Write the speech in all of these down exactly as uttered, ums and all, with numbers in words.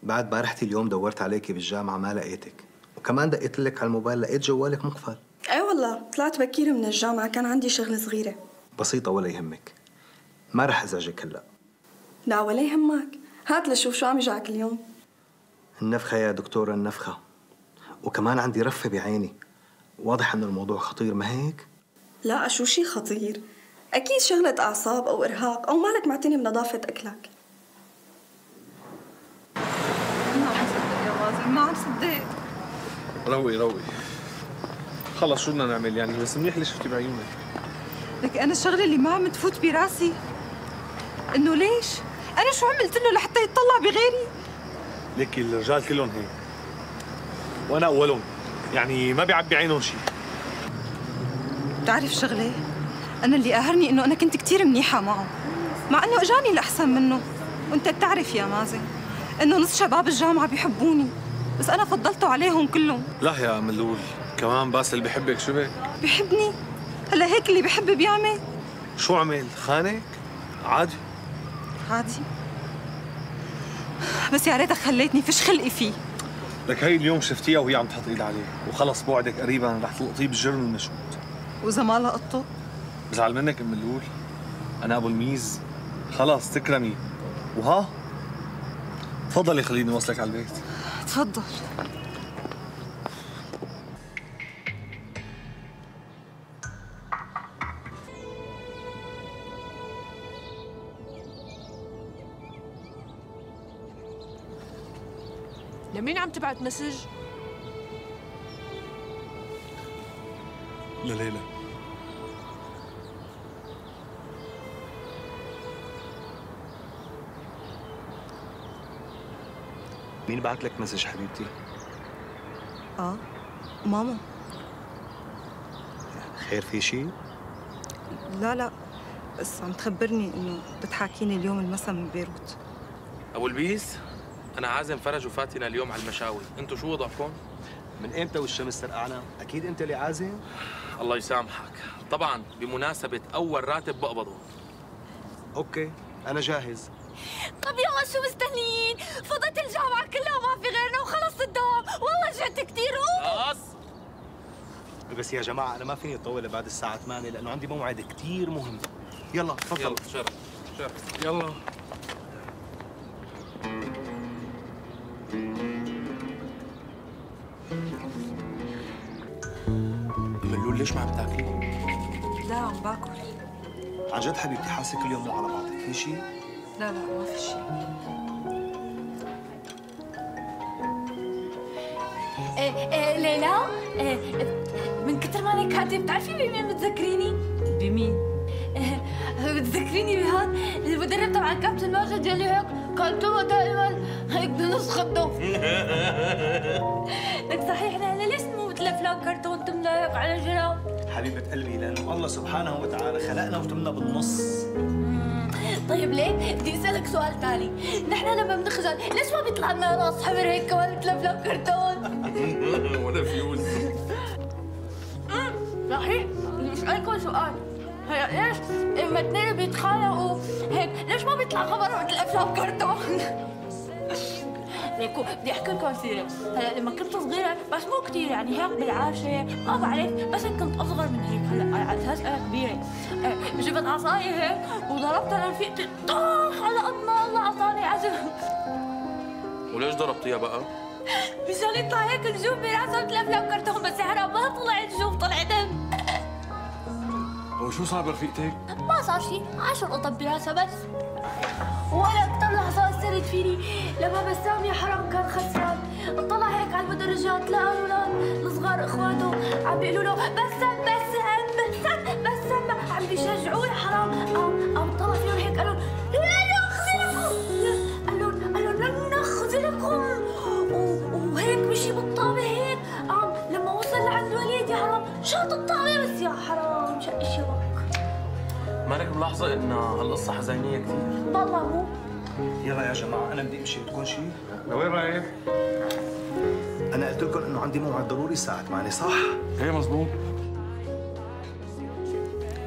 بعد ما رحتي اليوم دورت عليكي بالجامعة ما لقيتك، وكمان دقيت لك على الموبايل لقيت جوالك مقفل. اي والله طلعت بكير من الجامعة، كان عندي شغلة صغيرة. بسيطة ولا يهمك، ما رح ازعجك هلا. لا ولا يهمك، هات لشوف شو عم يجعك اليوم. النفخة يا دكتورة النفخة، وكمان عندي رفة بعيني، واضح انه الموضوع خطير ما هيك؟ لا شو شي خطير، اكيد شغلة اعصاب او ارهاق او مالك معتني بنظافة اكلك. ما عم صدق يا مازن، ما عم صدق. روقي روقي، خلص شو بدنا نعمل يعني، بس منيح اللي شفتي بعيونك. لك انا الشغله اللي ما عم تفوت براسي انه ليش؟ انا شو عملت له لحتى يتطلع بغيري؟ ليكي الرجال كلهم هيك، وانا اولهم، يعني ما بيعبي عينهم شيء. بتعرف شغله؟ انا اللي قاهرني انه انا كنت كثير منيحه معه، مع انه اجاني الاحسن منه، وانت بتعرف يا مازن انه نص شباب الجامعه بيحبوني، بس انا فضلته عليهم كلهم. لا يا ملول، كمان باسل اللي بحبك شو بك؟ بحبني؟ هلا هيك اللي بحب بيعمل؟ شو عمل؟ خانك؟ عادي عادي، بس يا ريتك خليتني فيش خلقي فيه. لك هي اليوم شفتيها وهي عم تحط ايد عليه، وخلص بوعدك قريبا رح تلقطيه بالجرم المشهود. واذا ما لقطته؟ بزعل منك ام ملول، انا ابو الميز، خلص تكرمي. وها تفضلي خليني اوصلك على البيت. تفضل. لمين عم تبعت مسج؟ لليلى. مين بعت لك مسج حبيبتي؟ اه ماما. خير في شيء؟ لا لا، بس عم تخبرني انه بتحاكيني اليوم المسا من بيروت. ابو البيس، انا عازم فرج وفاتنة اليوم على المشاوي، انتوا شو وضعكم؟ من امتى والشمس سرقانة؟ اكيد انت اللي عازم؟ الله يسامحك، طبعا بمناسبة اول راتب بقبضه. اوكي انا جاهز. طب يلا شو مستنيين؟ فضت الجامعة كلها ما في غيرنا وخلص الدوام، والله جعت كثير. خلاص بس يا جماعة أنا ما فيني أطول بعد الساعة ثمانية لأنه عندي موعد كثير مهم. يلا تفضل. يلا شرف شرف يلا. ملول ليش ما عم تاكلي؟ لا عم باكل. عن جد حبيبتي حاسة كل يوم مو على بعضك، في شيء؟ لا لا ما في شيء. إيه إيه ليلى، إيه من كثر ما انا كاتب بتعرفي بمين بتذكريني؟ بمين؟ إيه بتذكريني بهاد المدرب تبع الكابتن ماجد يلي هيك كان توه دائما هيك بنص خده. لك صحيح ليلى ليش مو مثل افلام كرتون تملى هيك على جنب؟ حبيبة قلبي لأنه الله سبحانه وتعالى خلقنا وتمنا بالنص. طيب ليه؟ بدي اسألك سؤال تاني، نحن لما بنخجل ليش ما بيطلع لنا راس حمر هيك كمان مثل افلام كرتون؟ ولا فيوز. صحيح، بدي اسألكم سؤال، هلا ليش لما اثنين بيتخانقوا هيك ليش ما بيطلع خبر مثل افلام كرتون؟ ليكو بدي احكي لكم سيرة، هلا لما كنت صغيرة بس مو كثير يعني هيك بالعاشرة ما بعرف، بس كنت اصغر من هيك، هلا على اساس انا كبيرة، جبت عصاية هيك وضربتها لرفيقتي طاح على قد ما الله عطاني عزم. وليش ضربتيها بقى؟ مشان يطلع هيك نجوم براسها مثل افلام كرتون، بس حرام ما طلع نجوم طلع دم. وشو صار برفيقتك؟ ما صار شيء، عشر قطب براسها بس. ولا اكثر لحظة أثرت فيني لما بسام يا حرام كان خسران، طلع هيك على المدرجات لقى الأولاد الصغار إخواته عم بيقولوا له بسام بسام بسام بسام عم بيشجعوه يا حرام، قام قام طلع فيهم هيك قال لهم لا نخزلكم، قال لهم قال لهم لن نخزلكم، وهيك مشي بالطابة هيك، قام لما وصل لعند الوليد يا حرام شاط الطابة بس يا حرام شق الشبك. مالك ملاحظة إن هالقصة حزينية كثير؟ والله مو. يلا يا جماعة أنا بدي أمشي، بدكم شيء؟ لوين رايح؟ أنا قلت لكم إنه عندي موعد ضروري الساعة ثمانية صح؟ إيه مزبوط.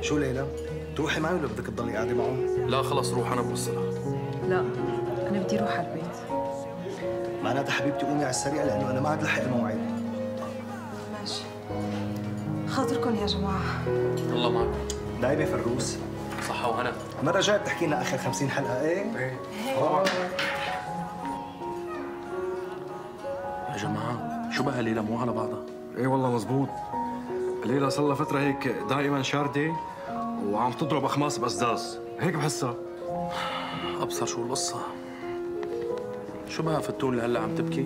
شو ليلى؟ تروحي معي ولا بدك تضلي قاعدة معه؟ لا خلص روح أنا بوصلها. لا أنا بدي أروح على البيت. معناتها حبيبتي قومي على السريع لانه انا ما عاد لحق الموعد. ماشي. خاطركم يا جماعه. الله معكم. دايبه فروس. صحة وهنا. مرة جاي بتحكي لنا اخر خمسين حلقة ايه؟ ايه طبعا. يا جماعة شو بقى ليلى مو على بعضها؟ ايه والله مزبوط. ليلى صار لها فترة هيك دائما شاردة وعم تضرب اخماس بأسداس، هيك بحسها. ابصر شو القصة. شو بقى فتون اللي هلا عم تبكي؟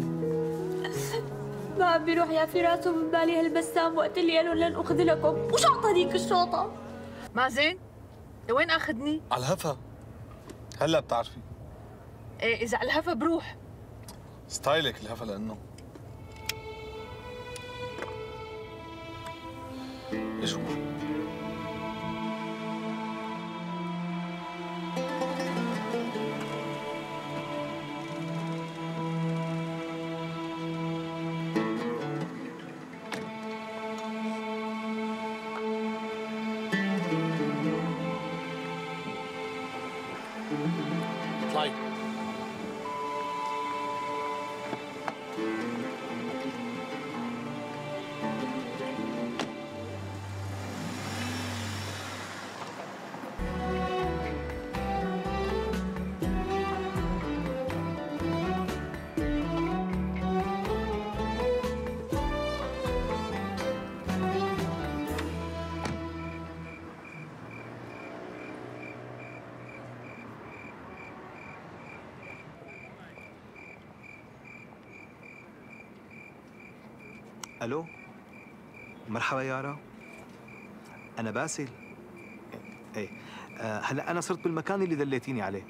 ما عم بيروح يا فراس ومن بالي هالبسام وقت اللي قالوا لن اخذ لكم، وش اعطانيك الشوطة؟ مازن لوين اخذني؟ على الهفا. هلا بتعرفي. ايه اذا على الهفا بروح. ستايلك الهفا لانه ايش هو؟ اطلعي. الو مرحبا يارا، انا باسل. ايه آه هلا انا صرت بالمكان اللي دليتيني عليه.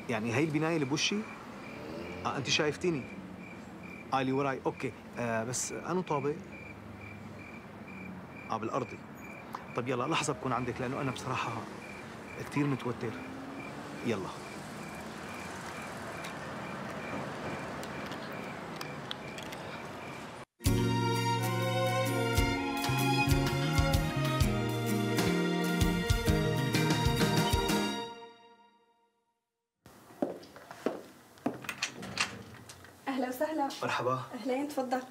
يعني هي البنايه اللي بوشي؟ اه انت شايفتيني؟ اه اللي وراي. اوكي آه بس انو طابق؟ اه بالارضي. طب يلا لحظه بكون عندك لانه انا بصراحه كثير متوتر. يلا. أهلا وسهلا. مرحبا. أهلين تفضل.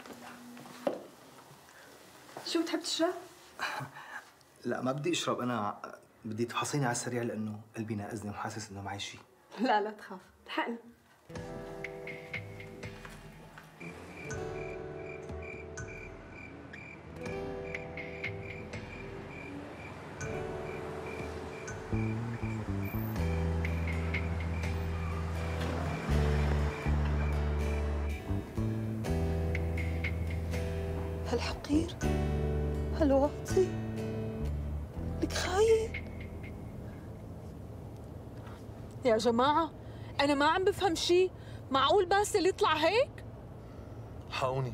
شو بتحب تشرب؟ لا ما بدي اشرب، انا بدي تفحصيني على السريع لانه قلبي ناقزني وحاسس انه معي شيء. لا لا تخاف، الحقني. هالحقير، هالواطي، لك خاين. يا جماعة أنا ما عم بفهم شي، معقول باسل يطلع هيك؟ حقوني.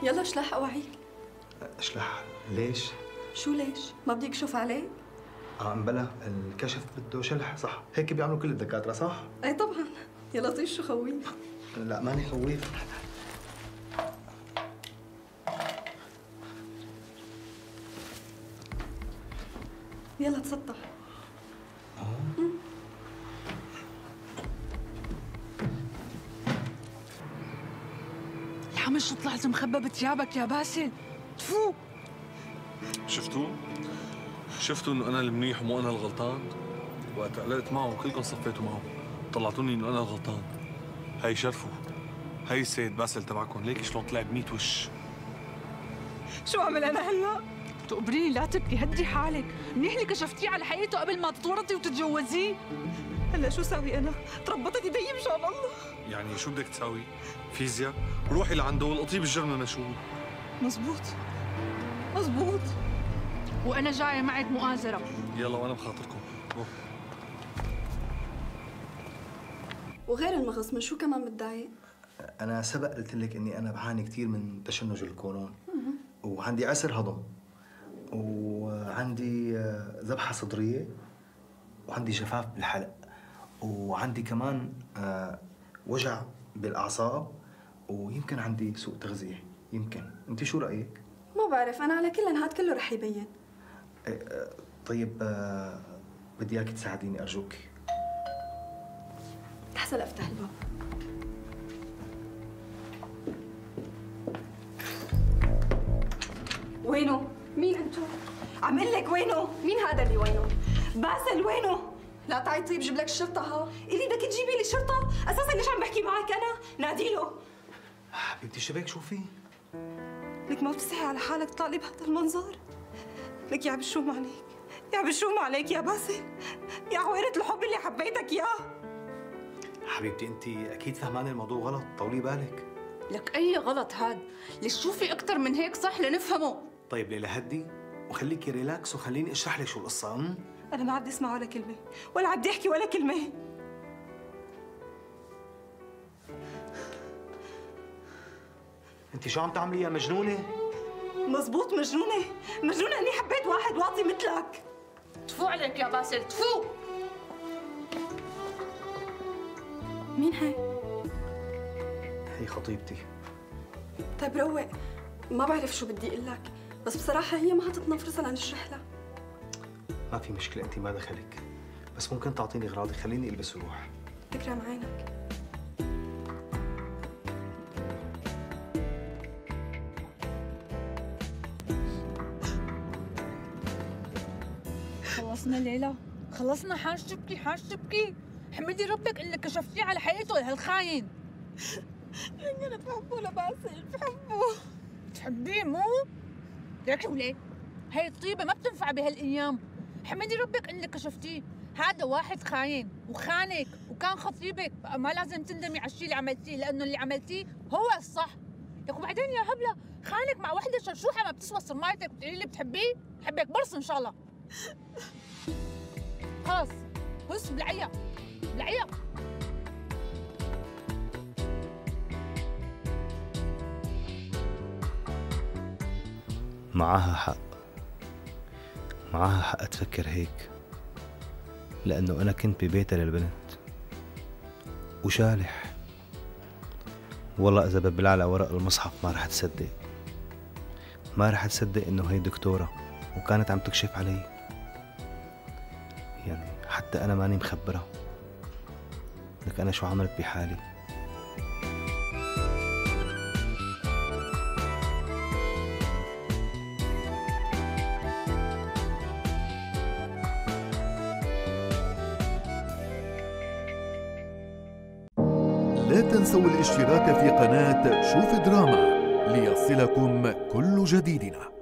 يلا اشلح اوعيك. اشلح؟ ليش؟ شو ليش؟ ما بدي اكشف عليك؟ اه امبلا الكشف بده شلح، صح؟ هيك بيعملوا كل الدكاترة صح؟ اي طبعا. يا لطيف شو خويف. لا ماني خويف. يلا تسطح. الحمش طلعت مخبى بثيابك يا باسل، تفو. شفتوا؟ شفتوا انه انا المنيح ومو انا الغلطان؟ وقت علقت معه كلكم صفيتوا معه، طلعتوني انه انا الغلطان. هي شرفوا، هي السيد باسل تبعكم، ليكي شلون طلع بميت وش. شو اعمل انا هلا؟ تقبريني لا تبكي، هدي حالك، منيح اللي كشفتيه على حقيقته قبل ما تتورطي وتتجوزيه. هلا شو ساوي انا؟ تربطت يدي مشان الله. يعني شو بدك تساوي؟ فيزياء؟ روحي لعنده والقطيه بالجرنة نشوف. مزبوط مزبوط. وأنا جاية معك مؤازرة. يلا وانا بخاطركم. روح. وغير المغص من شو كمان متضايق؟ انا سبق قلت لك اني انا بعاني كثير من تشنج القولون وعندي عسر هضم، وعندي آه، ذبحة صدرية، وعندي جفاف بالحلق، وعندي كمان آه، وجع بالأعصاب، ويمكن عندي سوء تغذية. يمكن. أنت شو رأيك؟ ما بعرف، أنا على كل هاد كله رح يبين. آه، طيب آه، بدي إياك تساعديني أرجوك. لحظة لأفتح الباب. وينه؟ مين انتو؟ عم قل لك وينه؟ مين هذا اللي وينه؟ باسل وينه؟ لا تعي طيب جيب لك الشرطة ها. إلي بدك تجيبي لي شرطة؟ أساسا ليش عم بحكي معك أنا؟ نادي له. حبيبتي شو بك؟ شو في؟ لك ما بتستحي على حالك تطلع بهذا المنظر؟ لك يا بشوم عليك، يا بشوم عليك يا باسل، يا عويرة الحب اللي حبيتك إياه. حبيبتي أنت أكيد فهمانة الموضوع غلط، طولي بالك. لك أي غلط هاد؟ ليش شوفي أكثر من هيك صح لنفهمه؟ طيب ليلى هدي وخليكي ريلاكس وخليني اشرح لك شو القصة. أم؟ أنا ما بدي أسمع ولا كلمة، ولا بدي أحكي ولا كلمة. أنت شو عم تعملي يا مجنونة؟ مزبوط مجنونة، مجنونة إني حبيت واحد واطي مثلك. تفو عليك يا باسل، تفو. مين هي؟ هي خطيبتي. طيب روق، ما بعرف شو بدي اقول لك، بس بصراحة هي ما عطتنا فرصة لنشرح لها. ما في مشكلة، أنت ما دخلك، بس ممكن تعطيني أغراضي، خليني ألبس وروح. تكرم عينك. خلصنا ليلى، خلصنا. حاج تبكي، حاج تبكي. حمدي ربك انك كشفتيه على حقيقته لهالخاين. أنا بحبه لباسل، بحبه. تحبيه مو؟ ليك وليه؟ هي الطيبة ما بتنفع بهالأيام. حمدي ربك انك كشفتيه. هذا واحد خاين وخانك وكان خطيبك، بقى ما لازم تندمي على الشيء اللي عملتيه، لأنه اللي عملتيه هو الصح. لك وبعدين يا هبلة، خانك مع وحدة شرشوحة ما بتسوى صمايتك بتقولي لي بتحبيه؟ بحبك برص إن شاء الله. خلص بص بلعيا بلعيا. معاها حق، معاها حق تفكر هيك، لأنه أنا كنت ببيتها للبنت وشالح. والله إذا ببلع على ورق المصحف ما رح تصدق، ما رح تصدق إنه هي دكتورة وكانت عم تكشف علي. يعني حتى أنا ماني مخبرة. لك أنا شو عملت بحالي؟ لا تنسوا الاشتراك في قناة شوف دراما ليصلكم كل جديدنا.